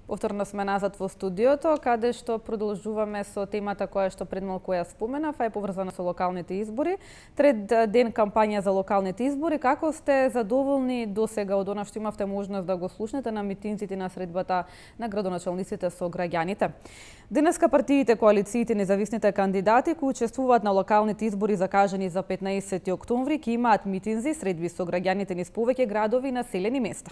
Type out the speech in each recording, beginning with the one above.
Повторно сме назад во студиото, каде што продолжуваме со темата која што пред малку ја споменав, а е поврзана со локалните избори. Трет ден кампања за локалните избори. Како сте задоволни досега од она што имавте можност да го слушнете на митинзите на средбата на градоначалниците со граѓаните? Денеска партиите, коалициите, независните кандидати кои учествуваат на локалните избори закажани за 15 октомври ќе имаат митинзи средби со граѓаните низ повеќе градови и населени места.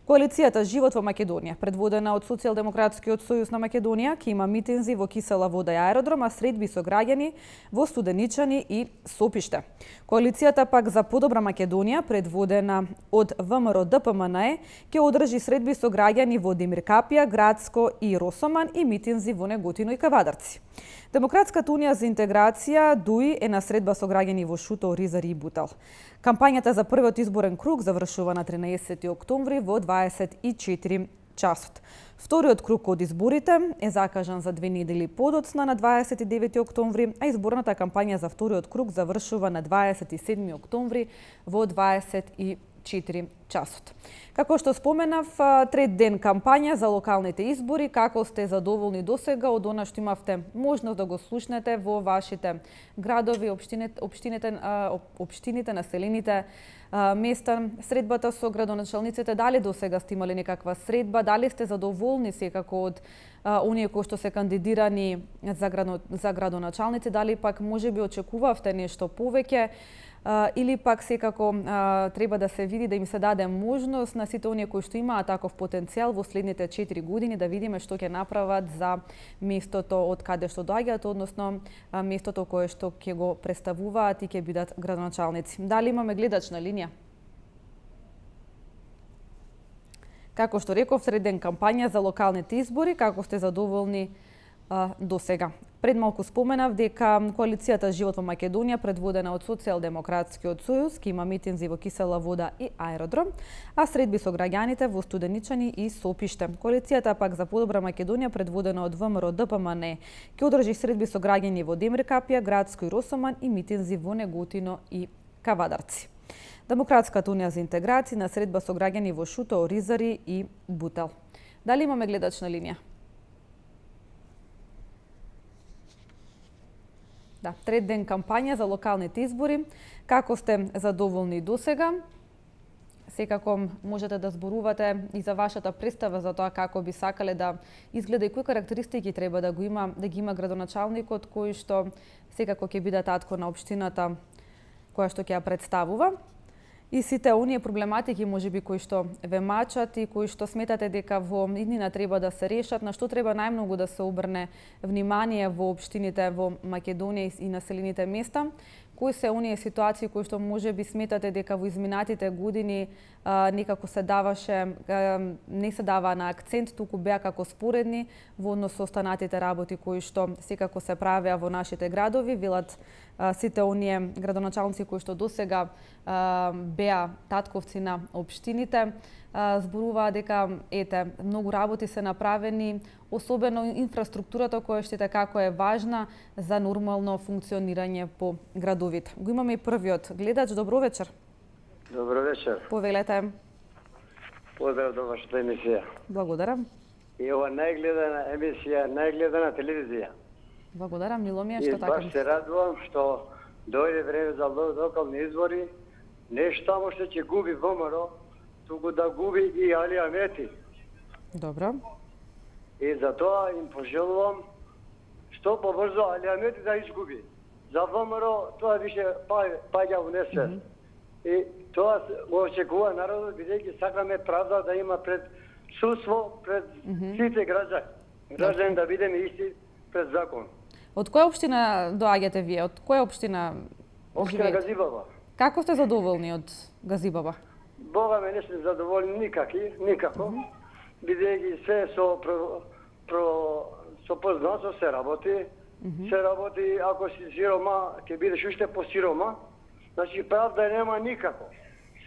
Коалицијата Живот во Македонија, предводена од Социјалдемократскиот сојуз на Македонија, ќе има митинзи во Кисела Вода и аеродром, а средби со граѓани во Студеничани и Сопиште. Коалицијата пак за подобра Македонија, предводена од ВМРО ДПМНЕ, ќе одржи средби со граѓани во Демиркапија, Градско и Росоман и митинзи во Неготино и Кавадарци. Демократската унија за интеграција ДУИ е на средба со граѓани во Шуто, Ризари и Бутал. Кампањата за првиот изборен круг завршува на 13 октомври во 24 часот. Вториот круг од изборите е закажан за 2 недели подоцна на 29 октомври, а изборната кампања за вториот круг завршува на 27 октомври во 24 часот. Како што споменав, трет ден кампања за локалните избори. Како сте задоволни досега од она што имавте можност да го слушнете во вашите градови, општините, населените места, средбата со градоначалниците? Дали досега сте имали некаква средба? Дали сте задоволни секако од оние кои што се кандидирани за градоначалници? Дали пак можеби очекувавте нешто повеќе? Или пак секако треба да се види, да им се даде можност на сите оние кои што имаат таков потенцијал во следните 4 години да видиме што ќе направат за местото од каде што доаѓаат, односно местото кое што ќе го представуваат и ќе бидат градоначалници. Дали имаме гледач на линија? Како што реков, сред ден кампања за локалните избори. Како сте задоволни досега? Пред малку споменав дека коалицијата Живот во Македонија, предводена од Социјалдемократскиот сојуз, ќе има митинзи во Кисела Вода и аеродром, а средби со граѓаните во Студеничани и Сопиште. Коалицијата пак за подобра Македонија, предводена од ВМРО ДПМНЕ, ќе одржи средби со граѓани во Демиркапија, Градско и Росоман и митинзи во Неготино и Кавадарци. Демократската унија за интеграција на средба со граѓани во Шуто, Ризари и Бутал. Дали имаме гледач на линија? Да, трет ден кампања за локалните избори. Како сте задоволни досега? Секако можете да зборувате и за вашата представа за тоа како би сакале да изгледа и кои карактеристики треба да ги има градоначалникот кој што секако ќе биде татко на општината која што ќе ја представува. И сите оние проблематики можеби кои што ве мачат и кои што сметате дека во иднина треба да се решат, на што треба најмногу да се обрне внимание во општините во Македонија и населените места? Кои се оние ситуации кои што можеби сметате дека во изминатите години некако не се дава на акцент, туку беа како споредни во однос со останатите работи кои што секако се правеа во нашите градови? Велат сите оние градоначалници кои што досега беа татковци на општините, зборуваа дека многу работи се направени, особено инфраструктурата која што како е важна за нормално функционирање по градовите. Го имаме и првиот гледач. Добро вечер. Добро вечер. Повелете. Поздрав до вашата емисија. Благодарам. И ова најгледана емисија, најгледана телевизија. Благодарам, мило ми е што така. И баш се радувам што дојде време за локални избори. Не само што ќе губи ВМРО, туку да губи и Али Амети. Добро. И за тоа им пожелувам што побрзо Али Амети да изгуби. За ВМРО тоа више паѓа во несвест. И тоа го очекува народот, бидејќи сакаме правда да има пред судство, пред сите граѓани. Граѓани да бидеме исти пред закон. Од која општина доаѓате вие? Од која општина? Општина Газибаба. Како сте задоволни од Газибаба? Бога ме не сме задоволни никако, бидејќи се со познанство се работи. Се работи, ако си сирома, ќе бидеш уште посирома. Значи правда нема никако.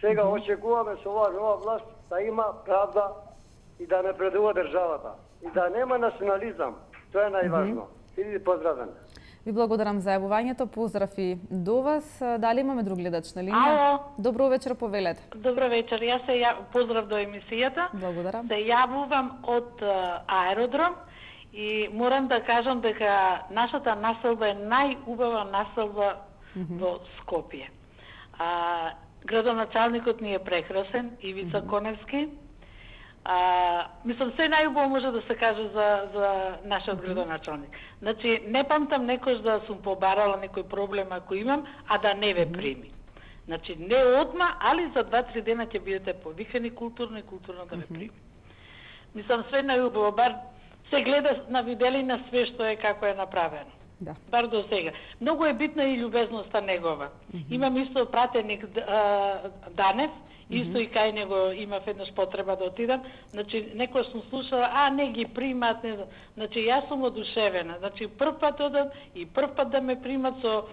Сега очекуваме со оваа нова власт да има правда и да напредува државата. И да нема национализам. Тоа е најважно. Иди поздравен. Ви благодарам за јавувањето, поздрав и до вас. Дали имаме друг гледач на линија? Ало. Добро вечер, повелете. Добро вечер, јас поздрав до емисијата. Благодарам. Се јавувам од аеродром и морам да кажам дека нашата населба е најубава населба во Скопје. Градоначалникот ни е прекрасен, Ивица Коневски. Мислам, се најубаво може да се каже за нашиот градоначалник. Значи, не памтам некош да сум побарала некој проблем ако имам, а да не ве прими. Значи, не одма, али за 2-3 дена ќе бидете повикани културно и културно да ве прими. Мислам, све најубаво, бар се гледа на виделина све што е како е направено. Да. Бар до сега. Многу е битна и љубезноста негова. Имам исто пратеник Данев, исто и кај него имав еднаш потреба да отидам. Значи, некој сум слушала, не ги примат, не знам. Значи, јас сум одушевена. Значи, прв пат одам и прв пат да ме примат со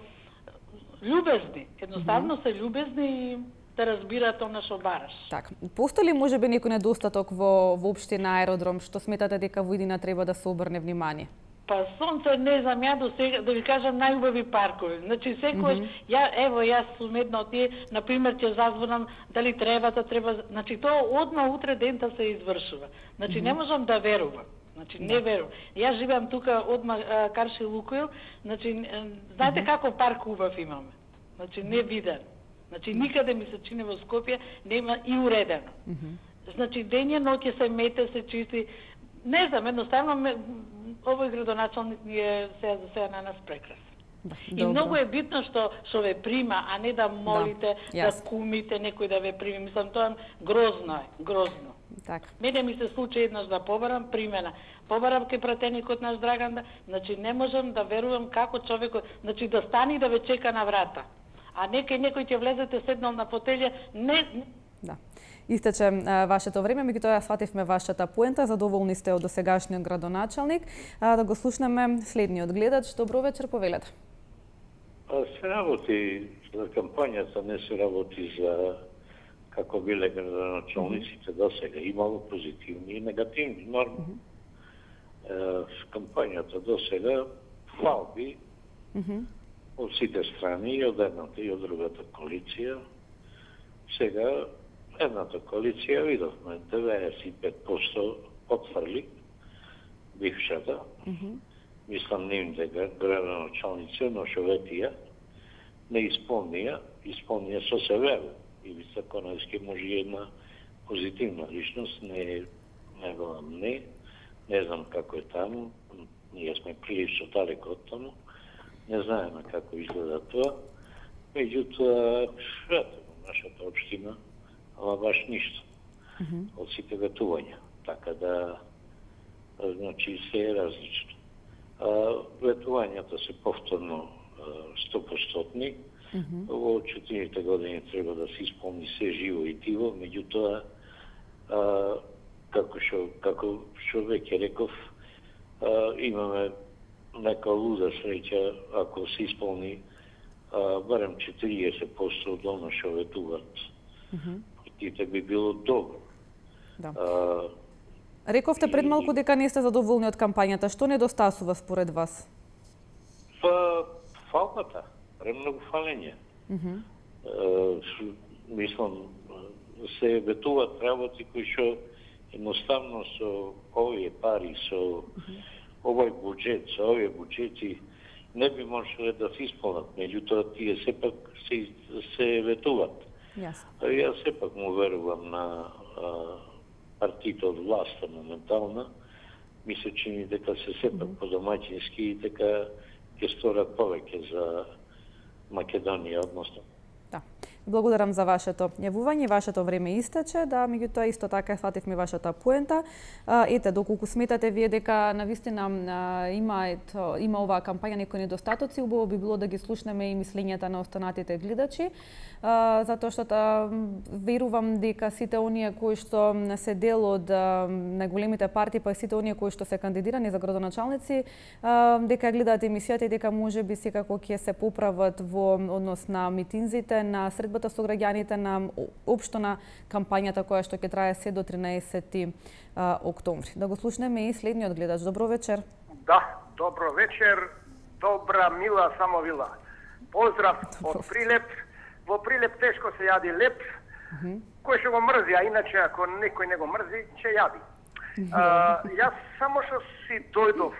љубезни. Едноставно се љубезни и да разбираат она што бараш. Така. Постои ли можеби некој недостаток во општина Аеродром што сметате дека во иднина треба да се обрне внимание? Па сонце не знам, ја до сега да ви кажам најубави паркови. Значи секојаш јас сум една од тие, на пример ќе зазвонам дали треба, значи тоа одма утре дента се извршува. Значи не можам да верувам. Значи не верувам. Јас живеам тука одма Карши Лукоил, значи знаете како парк убав имаме. Значи не виден. Значи никаде ми се чини во Скопје нема и уредено. Значи дење ноќе се мете, се чисти. Не знам, едноставно овој градоначалник ни е сега за сега на нас прекрасен. И многу е битно што ве прима, а не да молите, да кумите некој да ве прими. Мислам, тоа грозно е, грозно. Така. Мене ми се случи еднаш да побарам примена. Побарам кај пратеникот наш Драган, значи не можам да верувам како човекот, значи да стани да ве чека на врата. А некој ќе влезете седнал на фотелја, не. Да. Истече вашето време, меѓутоа ја свативме вашата поента, задоволни сте од досегашниот градоначалник. Да го слушнеме следниот гледач. Добро вечер, повелете. Се работи за кампањата, не се работи за како биле градоначалниците до сега. Имало позитивни и негативни норми. Кампањата до сега фалби од сите страни, и од едната и од другата коалиција. Сега едната коалиција видовме 95% отфрли бившата. Мислам нивните градоначалници, но шоветија не исполнија со се веру. Ивица Коневски може една позитивна личност, не велам не знам како е таму, ние сме прилично далеко од таму, не знаеме како изгледа тоа. Меѓутоа, нашата општина, ама баш ништо од сите ветувања. Така да, значи, се е различно. Ветувањата се повторно 100%. Во 4 години треба да се исполни се живо и диво, меѓутоа, како што веќе реков, имаме нека луда среќа ако се исполни барем 40% од оно што ветуваат. Партиите би било добро. Да. Рековте пред малку дека не сте задоволни од кампањата. Што недостасува според вас? Фалбата. Премногу фалење. Мислам, се ветуваат работи кои што едноставно со овие пари, со овој буџет, со овие буџети не би можеле да се исполнат. Меѓутоа, тие сепак се ветуваат. Јас сепак му верувам на партиите од власта моментална. Ми се чини дека се сепак подомаќински и дека ќе сторат повеќе за Македонија, односно. Да. Благодарам за вашето јавување, вашето време истече, да, меѓутоа исто така свативме вашата поента. Ете, доколку сметате вие дека навистина има оваа кампања некои недостатоци, убаво би било да ги слушнеме и мислењата на останатите гледачи, затоа што верувам дека сите оние кои што се дел од најголемите партии, па и сите оние кои што се кандидирани за градоначалници, дека гледаат емисијата и дека можеби секако ќе се поправат во однос на митинзите, на средбата со граѓаните, на општо на кампањата која што ќе трае се до 13 октомври. Да го слушнеме и следниот гледач. Добро вечер. Да, добро вечер. добра, мила Самовила. Поздрав од Прилеп. Во Прилеп тешко се јади леп. Кој ќе го мрзи, а иначе ако некој не го мрзи, ќе јади. Јас само што си дојдов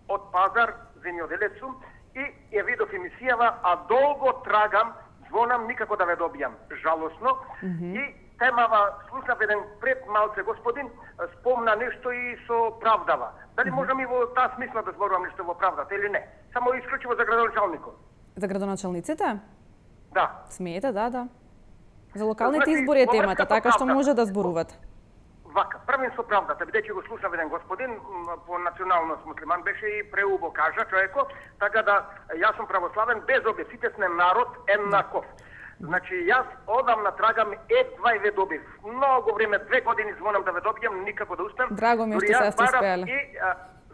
од пазар, земјоделец сум, и ја видов емисијава, а долго трагам, звонам, никако да ве добијам. Жалосно. И темава, слушнав еден пред малце господин, спомна нешто и со правдава. Дали можам и во таа смисла да зборувам нешто во правдата или не? Само исклучиво за градоначалникот. За градоначалниците? Да. Смеете, да. За локалните избори е темата, така што може да зборувате. Вака, првенство правдата, бидејќи го слушнав еден господин, по националност муслиман беше и преубо кажа човеко, така да јас сум православен, без обе, сите сме народ еднаков. Значи, јас одамна трагам, едва и ве добив. Многу време, 2 години звонам да ве добијам, никако да успеам. Драго ми што се сте успеале. И,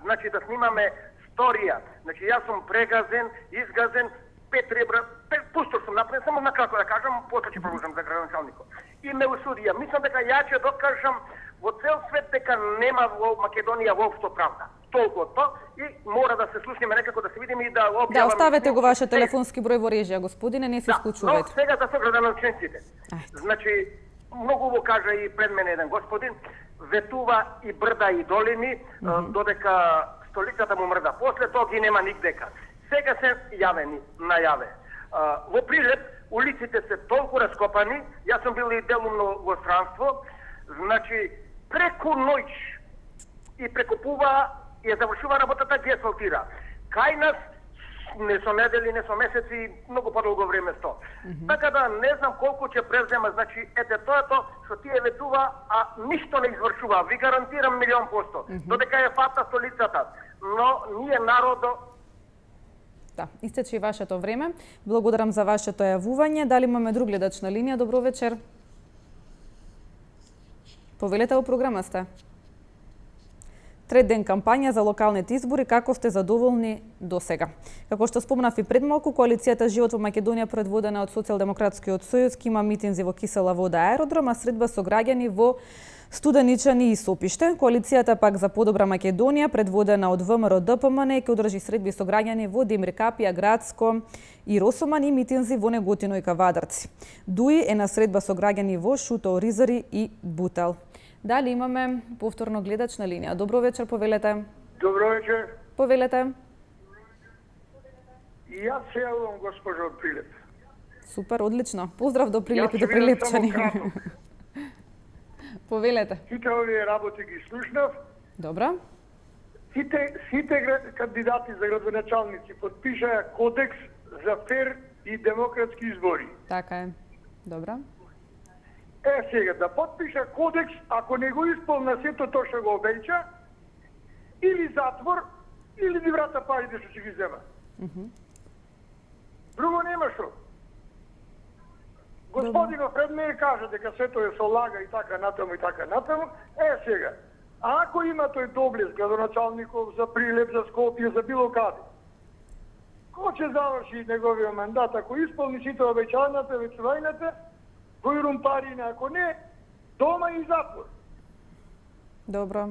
значи, да снимаме сторија. Значи, јас сум прегазен, изгазен, 5 ребра, пустор сум направен, само накратко да кажам, после ќе продолжам за градоначалникот. И ме осудија. Мислам дека ја ќе докажам во цел свет дека нема во Македонија воопшто правда. Толку то и мора да се слушнеме некако да се видиме и да објаваме. Да, оставете го вашиот телефонски број во режија, господине, не се исклучувајте. Но сега за со градоначалниците. Значи, многу во кажа и пред мене еден господин, ветува и брда и долини, додека столицата му мрда. После тоа ги нема нигдека. Сега се јавени, најаве. Во Прилеп улиците се толку раскопани, јас сум бил и делумно во странство, значи преку ноќ и прекупува и ја завршува работата, ги асфалтира. Кај нас не со недели, не со месеци, многу подолго време сто. Така да не знам колку ќе презема, значи ете тоа е тоа што тие ветува, а ништо не извршува. Ви гарантирам 100%. Додека е фата столицата, но ние народо. Да, истече и вашето време. Благодарам за вашето јавување. Дали имаме друг гледач на линија? Добро вечер. Повелете во програма сте. Трет ден кампања за локалните избори, како сте задоволни до сега? Како што спомнав и пред малку, коалицијата Живот во Македонија, предводена од Социјалдемократскиот сојуз, има митинзи во Кисела вода аеродром, а средба со граѓани во Студеничани и Сопиште. Коалицијата пак за подобра Македонија, предводена од ВМРО ДПМН, ќе одржи средби со граѓани во Демир Капија, Градско и Росоман и митинзи во Неготино и Кавадарци. ДУИ е на средба со граѓани во Шуто, Оризари и Бутел. Дали имаме повторно гледач на линија? Добро вечер, повелете. Добро вечер. Повелете. И јас се јавувам, госпожо, од Прилеп. Супер, одлично. Поздрав до Прилеп и до прилепчани. Повелете. Сите овие работи ги слушнав. Добро. Сите кандидати за градоначалници подпишаа кодекс за фер и демократски избори. Така е. Добро. Сега, да подпиша кодекс, ако не го исполна сето тоа што го обеќа, или затвор, или ни врата парите што ќе ги зема. Друго нема што. Господинов пред мене кажа дека сето е со лага и така натаму и така натаму. Сега, ако има тој доблес градоначалников за Прилеп, за Скопје, за било каде, кој ќе заврши неговиот мандат, ако исполни сите обеќањата, ветувањата, кој румпарина, ако не, дома и затвор. Добро.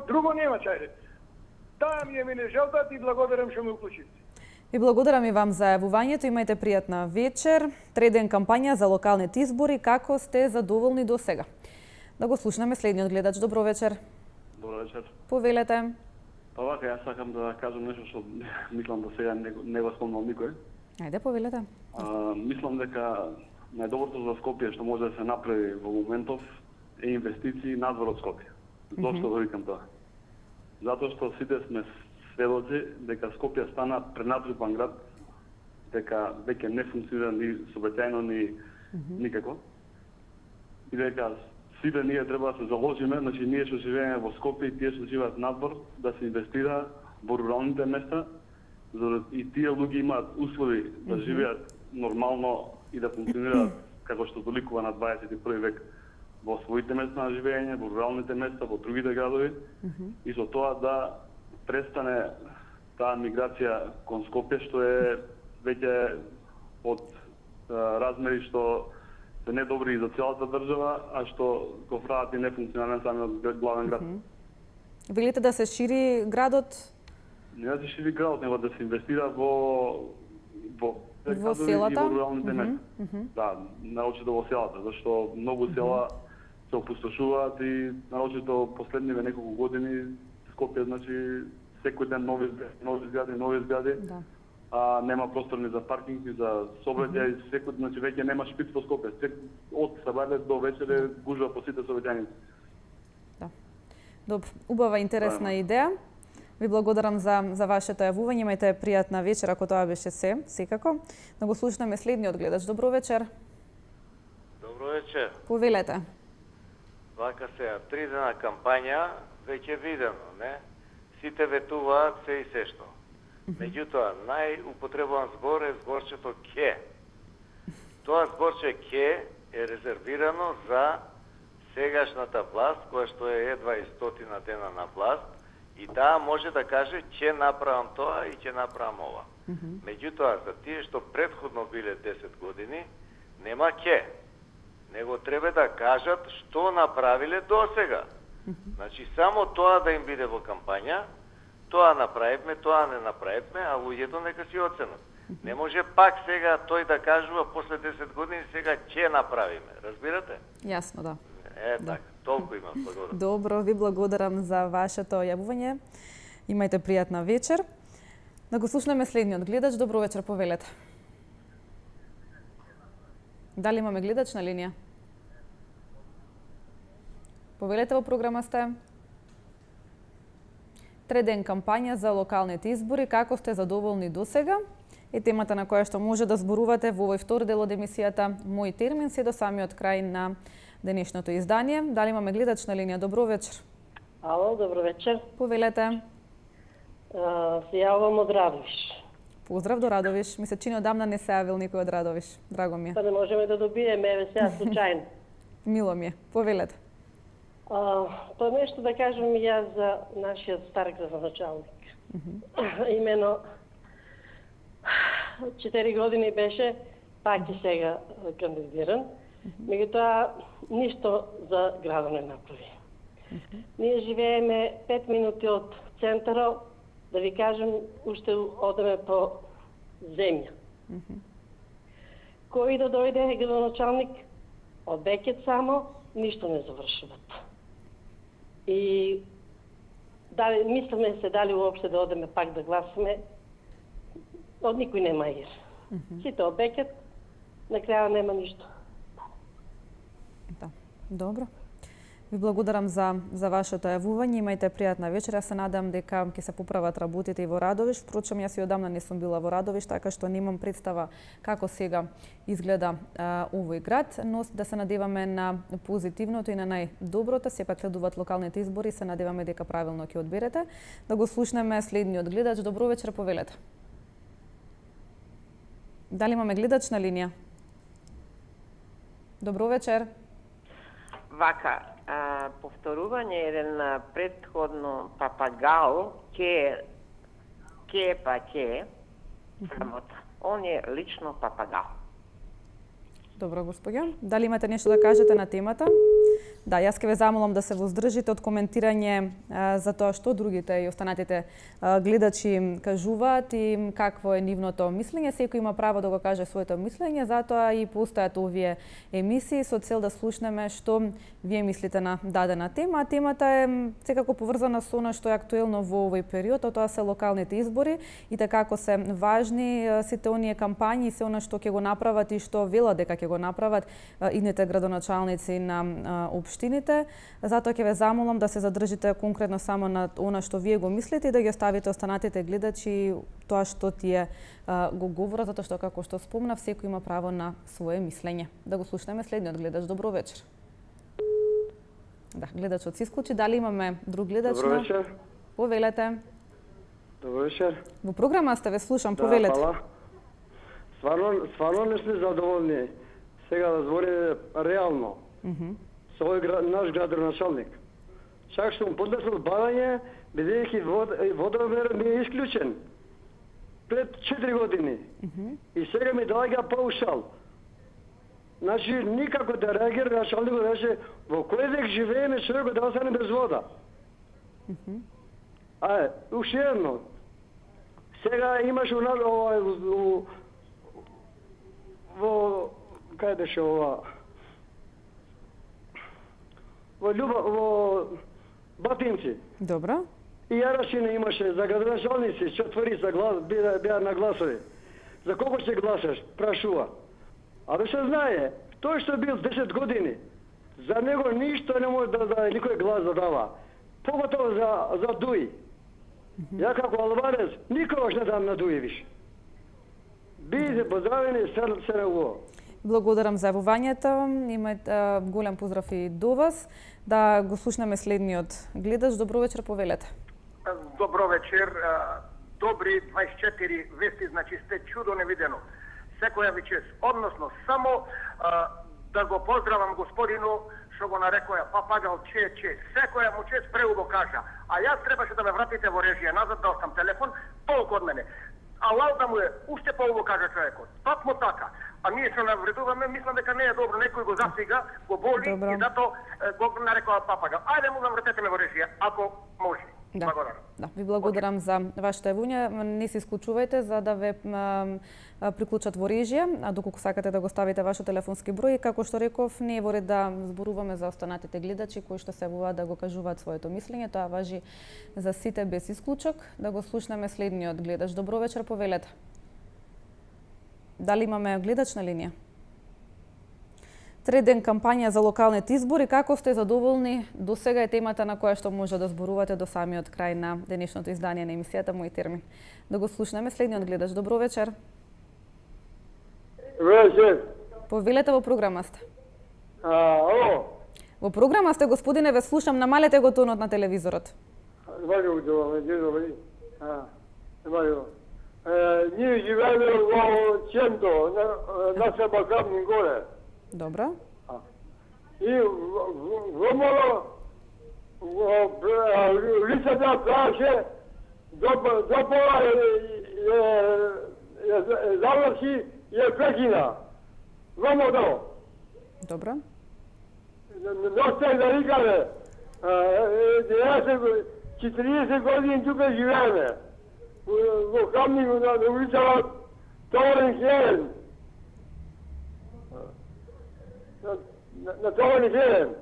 Друго нема, чајде. Таа ми е мене желбата и благодарам што ме уклучите. И благодарам и вам за јавувањето. Имајте пријатна вечер. Трет ден кампања за локалните избори. Како сте задоволни до сега? Да го слушнеме следниот гледач. Добро вечер. Добро вечер. Повелете. Па вака, јас сакам да кажам нешто што мислам да сега не го спомнал никој. Ајде, повелете. Мислам дека најдоброто за Скопје што може да се направи во моментов е инвестиции надвор од Скопје. Зошто го викам тоа? Затоа што сите сме сведоци дека Скопје стана пренатрупан град, дека веќе не функционира ни сообраќајно ни никако. И дека сите ние треба да се заложиме, значи ние што живееме во Скопје и тие што живеат надвор, да се инвестира во руралните места, за да и тие луѓе имаат услови да живеат нормално и да функционираат како што доликува на 21 век во своите места на живење, во руралните места, во другите градови и со тоа да престане таа миграција кон Скопје што е веќе од размери што се недобри и за целата држава, а што го прават и нефункционален самиот главен град. Велите да се шири градот? не да се шири градот, него да се инвестира во селата и во руралните места. Да, наочито во селата, зашто многу села се опустошуваат и наочито последниве неколку години Скопје, значи секој ден нови згради, Да. а нема простор ни за паркинг, ни за сообраќај, секој, значи веќе нема шпиц во Скопје. Од сабајле до вечере гужва по сите сообраќајници. Да. Добро, убава интересна идеја. Ви благодарам за вашето јавување. Имајте пријатна вечер, ако тоа беше се, секако. Да го слушнеме следниот гледач. Добро вечер. Добро вечер. Повелете. Вака сега, 3 дена кампања, веќе видено, не? Сите ветуваат се и се што. Меѓутоа, најупотребуван збор е зборчето ке. Тоа зборче ке е резервирано за сегашната власт, која што е едва и 100 дена на власт, и таа може да каже ќе направам тоа и ќе направам ова. Меѓутоа, за тие што предходно биле 10 години, нема ке. Него треба да кажат што направиле досега. Значи, само тоа да им биде во кампања, тоа направивме, тоа не направивме, а луѓето нека си оценат. Не може пак сега тој да кажува после 10 години, сега ќе направиме. Разбирате? Јасно, да. Така, толку имам, благодарам. Добро, ви благодарам за вашето јавување. Имајте пријатна вечер. Да го слушнеме следниот гледач. Добро вечер, повелете. Дали имаме гледач на линија? Повелете, во програма сте. 3 ден кампања за локалните избори. Како сте задоволни досега? Е темата на која што може да зборувате во овој втор дел од емисијата Мој термин, се до самиот крај на денешното издание. Дали имаме гледач на линија? Добро вечер. Ало, добро вечер. Повелете. Се јавам од Радовиш. Поздрав до Радовиш. Ми се чини одамна не се јавил никој од Радовиш. Драго ми е. Па не можеме да добиеме, еве сега случајно. Мило ми е. Повелете. Тоа нешто да кажам и јас за нашиот стар градоначалник. Имено 4 години беше, пак и сега кандидиран. Меѓутоа, ништо за градот не направи. Ние живееме 5 минути од центарот, да ви кажем, уште одеме по земја. Кој да дојде градоначалник, од Бекет само, ништо не завршуват. И дали, мислиме се дали уопште да одеме пак да гласаме, од никој нема ир. Сите од Бекет, на краја нема ништо. Да, добро. Ви благодарам за вашето јавување. Имајте пријатна вечер. Се надам дека ќе се поправат работите и во Радовиш. Впрочем, јас и одамна не сум била во Радовиш, така што немам представа како сега изгледа овој град, но да се надеваме на позитивното и на најдоброто. Сепак следуваат локалните избори, се надеваме дека правилно ќе одберете. Да го слушнеме следниот гледач. Добро вечер, повелете. Дали имаме гледач на линија? Добро вечер. Вака, повторување еден предходно папагал, ке, самота. Он е лично папагал. Добро, господја. Дали имате нешто да кажете на темата? Да, јас ке ве замолам да се воздржите од коментирање за тоа што другите и останатите гледачи кажуваат и какво е нивното мислење. Секој има право да го каже своето мислење, затоа и постојат овие емисии со цел да слушнеме што вие мислите на дадена тема. Темата е секако поврзана со она што е актуелно во овој период, а тоа се локалните избори и така како се важни сите оние кампањи и се она што ќе го направат и што велат дека ќе го направат идните градоначалници на општините. Затоа ќе ве замолам да се задржите конкретно само на она што вие го мислите и да ги оставите останатите гледачи тоа што тие го говорат, затоа што како што спомнав, секој има право на свое мислење. Да го слушнеме следниот гледач. Добро вечер. Да, гледачот се исклучи. Дали имаме друг гледач? Добро вечер. Повелете. Добро вечер. Во програма сте, ве слушам, повелете. Да, стварно не сме задоволни. Сега да збори реално. Со овој наш градоначалник. Чак што му поднесол барање, бидејќи водомер ми е исклучен пред 4 години. И сега ми доаѓа паушал. Значи, никако да реагира началникот, рече, во кој век живееме, човекот да остане без вода. Уште едно. Сега имаш во кај беше ова? Во Батинци. Добро. И Јарашина имаше за градоначалници, 4 беа на гласови. За колку ќе гласаш? Прашува. Абе се знае, тој што бил 10 години, за него ништо не може да никој глас да дава. Поготово за Дуи. Ја како албанец никогаш не дам на Дуи више. Бидете поздравени, се на уво. Благодарам за јавувањето. Имајте голем поздрав и до вас. Да го слушнеме следниот гледаш. Добро вечер, повелете. Добро вечер. Добри 24 вести, значи сте чудо невидено. Секоја ви чест. Односно, само да го поздравам господину што го нарекоја папагал че. Секоја му чест преубо кажа. А јас требаше да ме вратите во режија назад, дал сам телефон, толку од мене. А лауда му е, уште поубо кажа човекот. Такмо така. А ние што навредуваме, мислам дека не е добро, некој го засига, го боли и зато го нарекоа папагал. Ајде му вратете ме во режија, ако може. Да. Да, ви благодарам за вашето јавување. Не се исклучувајте за да ве приклучат во режија, а доколку сакате да го ставите вашиот телефонски број, како што реков, не е во ред да зборуваме за останатите гледачи кои што се јавуваат да го кажуваат своето мислење, тоа важи за сите без исклучок. Да го слушнеме следниот гледач. Добро вечер, повелете. Дали имаме гледач на линија? Трет ден кампања за локалните избори. Како сте задоволни? До сега е темата на која што може да зборувате до самиот крај на денешното издание на емисијата Мој термин. Да го слушнеме следниот гледач. Добро вечер. Вечер. Повелете, во програма сте. Ало. Во програма сте, господине, ве слушам. Намалете го тонот на телевизорот. Ние живееме во Ченто, на Себакамни горе. Добро. И вомало лицата праше до пола заврши и е прекина. Вомало. Добро. Но сте да викаме, 40 години тука живееме. Во Камни, на улицава Товарен Хелен. На Товарен Хелен.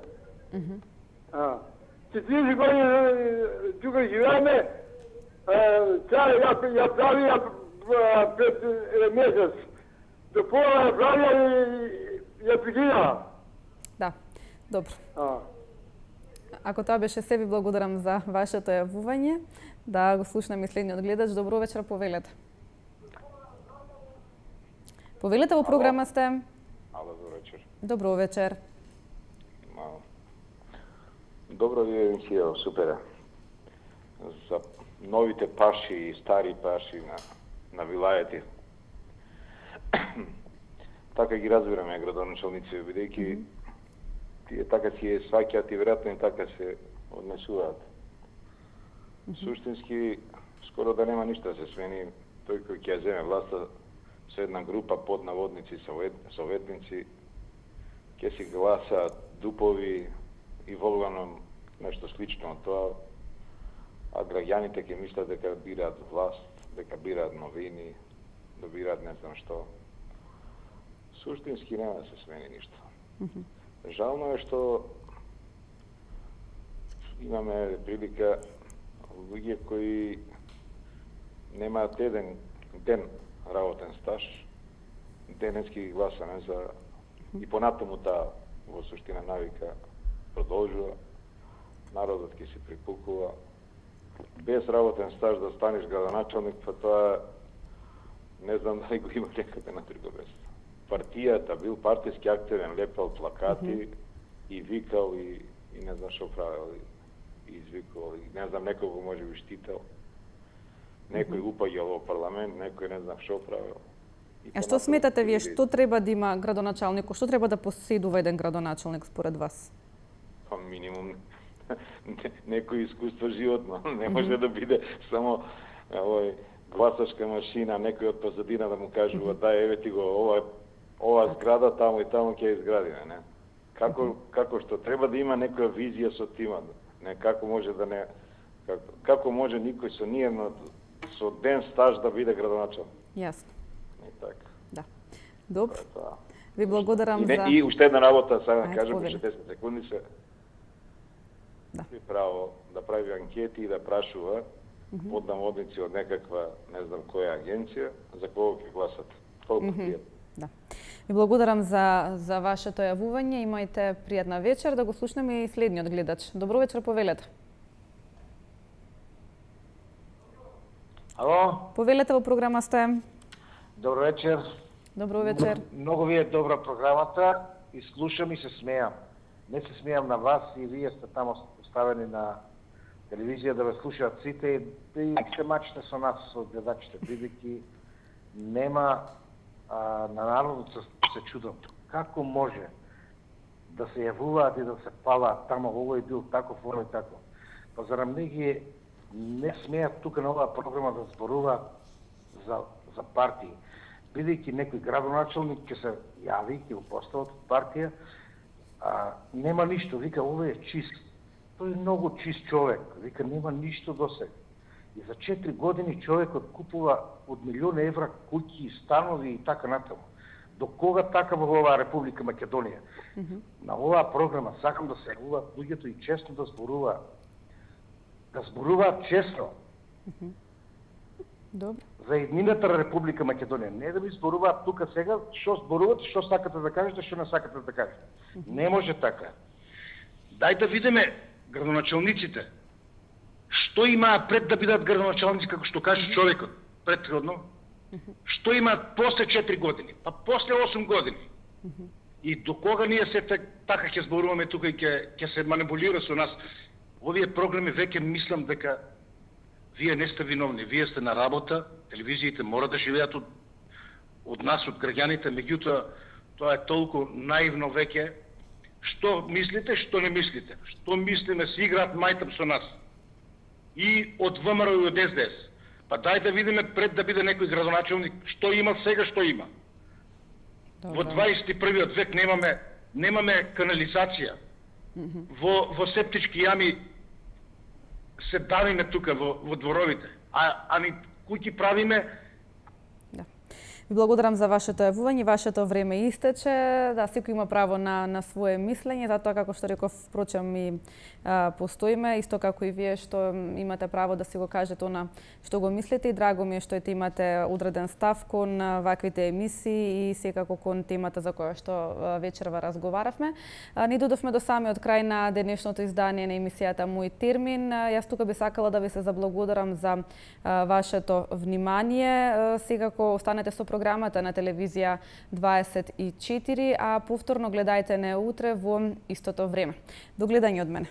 40 години тука живееме, ја правија пред месец. До пола ја правија и ја прекина. Да, добро. Ако тоа беше се, ви благодарам за вашето јавување. Да го слушнеме следниот гледач. Добро вечер, повелете. Повелете, во програма сте. Ало, добро вечер. Добро вечер. Добро ви емисија, супер. За новите паши и стари паши на вилајати. Така ги разбираме градоначалници, бидејќи тие така си е сваќаат и веројатно и така се однесуваат. Суштински, скоро да нема ништо да се смени. Тој кој ќе земе власта со една група под наводници, советници, ќе си гласаат дупови и волганом нешто слично од тоа, а граѓаните ќе мислат дека бираат власт, дека бираат новини, да бираат не знам што. Суштински нема да се смени ништо. Жално е што имаме прилика луѓе кои немаат еден ден работен стаж, денески гласане за и понатаму таа во суштина навика продолжува, народот ќе се припукува. Без работен стаж да станеш градоначалник, па тоа не знам дали го има некаде на друго место. Партијата бил партиски активен, лепел плакати и викал и не знам што правил и извикувал и не знам некој го може би штител. Некој упаѓал во парламент, некој не знам што правил. А што сметате вие, што треба да има градоначалник, што треба да поседува еден градоначалник според вас? Па минимум некој искуство животно, не може да биде само гласачка машина, некој од позадина да му кажува дај еве ти го ова зграда таму и таму ќе изградиме, не? Како што треба да има некоја визија со тимот, не како може да не како може никој со ниедно со ден стаж да биде градоначалник. Јасно. И така. Да. Добро. Ви благодарам за... И уште една работа, сега да кажем, уште 10 секунди се би право да прави анкети и да прашува поднамодници од некаква, не знам која агенција, за кого ќе гласат. Толку пријатно. Да. Ви благодарам за вашето јавување. Имајте пријатна вечер. Да го слушнеме и следниот гледач. Добро вечер, повелете. Ало? Повелете, во програма сте. Добро вечер. Добро вечер. Многу ви е добра програмата и слушам и се смејам. Не се смејам на вас и вие сте тамо поставени на телевизија да ве слушаат сите и се мачите со нас, со гледачите, бидејќи нема на народот се чудам. Како може да се јавуваат и да се палаат тамо, овој бил таков, оној таков. Па зарам не смеат тука на оваа програма да зборуваат за партии. Бидејќи некој градоначалник ќе се јави, ќе го постават од партија, нема ништо, вика, овој е чист. Тој е многу чист човек, вика, нема ништо до сега. И за 4 години човекот купува од милион евра куќи, станови и така натаму. До кога така во оваа Република Македонија? На оваа програма сакам да се јавуваат луѓето и честно да зборуваат. Да зборуваат честно. Добро. За еднината на Република Македонија. Не да ми зборуваат тука сега, што зборувате, што сакате да кажете, што не сакате да кажете. Не може така. Дај да видиме градоначалниците. Што имаат пред да бидат градоначалници, како што каже човекот претходно? Што имаат после 4 години? Па после 8 години. И до кога ние се така ќе зборуваме тука и ќе се манипулира со нас? Овие програми веќе мислам дека вие не сте виновни, вие сте на работа, телевизиите мора да живеат од нас, од граѓаните, меѓутоа тоа е толку наивно веќе. Што мислите, што не мислите? Што мислиме, си играат мајтап со нас? И од ВМРО и од СДС. Па дај да видиме пред да биде некој градоначалник, што има сега, што има. Во 21. век немаме канализација. Во септички јами се давиме тука во дворовите, а ни куќи правиме. Ви благодарам за вашето јавување, вашето време истече. Да, секој има право на свое мислење, затоа како што реков, впрочем и постоиме, исто како и вие што имате право да си го кажете она што го мислите, и драго ми е што имате одреден став кон ваквите емисии и секако кон темата за која што вечерва разговаравме. Ни додовме до самиот крај на денешното издание на емисијата Мој термин. Јас тука би сакала да ви се заблагодарам за вашето внимание. Секако останете со програмата на телевизија 24, а повторно гледајте не утре во истото време. До гледање од мене.